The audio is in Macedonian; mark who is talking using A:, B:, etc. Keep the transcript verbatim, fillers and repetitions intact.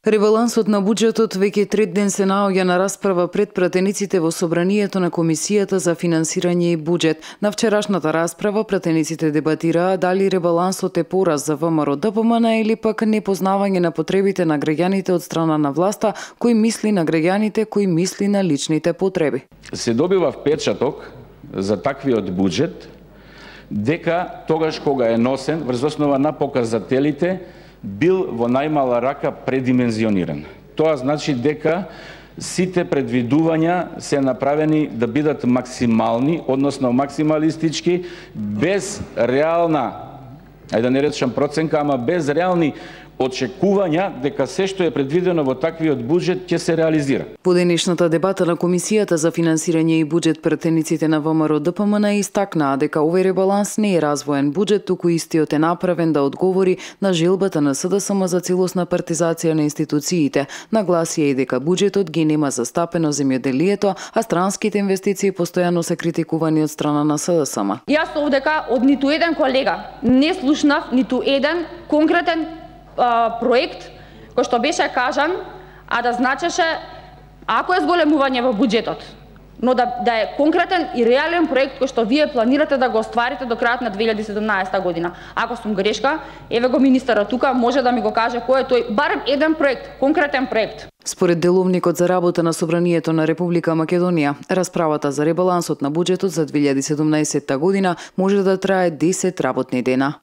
A: Ребалансот на буџетот веќе трет ден се наоѓа на расправа пред пратениците во собранието на Комисијата за финансирање и буџет. На вчерашната расправа пратениците дебатираа дали ребалансот е пораз за ВМРО Д П М Н или пак непознавање на потребите на граѓаните од страна на власта, кој мисли на граѓаните, кој мисли на личните потреби.
B: Се добива впечаток за таквиот буџет дека тогаш кога е носен врз основа на показателите бил во најмала рака предимензиониран. Тоа значи дека сите предвидувања се направени да бидат максимални, односно максималистички, без реална, ајде да не речам проценка, ама без реални очекувања дека се што е предвидено во таквиот буџет ќе се реализира.
A: Во денешната дебата на Комисијата за финансирање и буџет пратениците на ВМРО Д П М Н истакнаа дека овој ребаланс не е развоен буџет, туку истиот е направен да одговори на желбата на С Д С М за целосна партизација на институциите. Нагласија и дека буџетот ги нема застапено земјоделието, а странските инвестиции постојано се критикувани од страна на С Д С М.
C: Јас овдека од ниту еден колега не слушнав ниту еден конкретен проект кој што беше кажан, а да значеше ако е зголемување во буџетот, но да, да е конкретен и реален проект кој што вие планирате да го остварите до крајот на две илјади и седумнаесета година. Ако сум грешка, еве го министерот тука, може да ми го каже кој е тој, барем еден проект, конкретен проект.
A: Според деловникот за работа на Собранието на Република Македонија, расправата за ребалансот на буџетот за две илјади и седумнаесета година може да трае десет работни дена.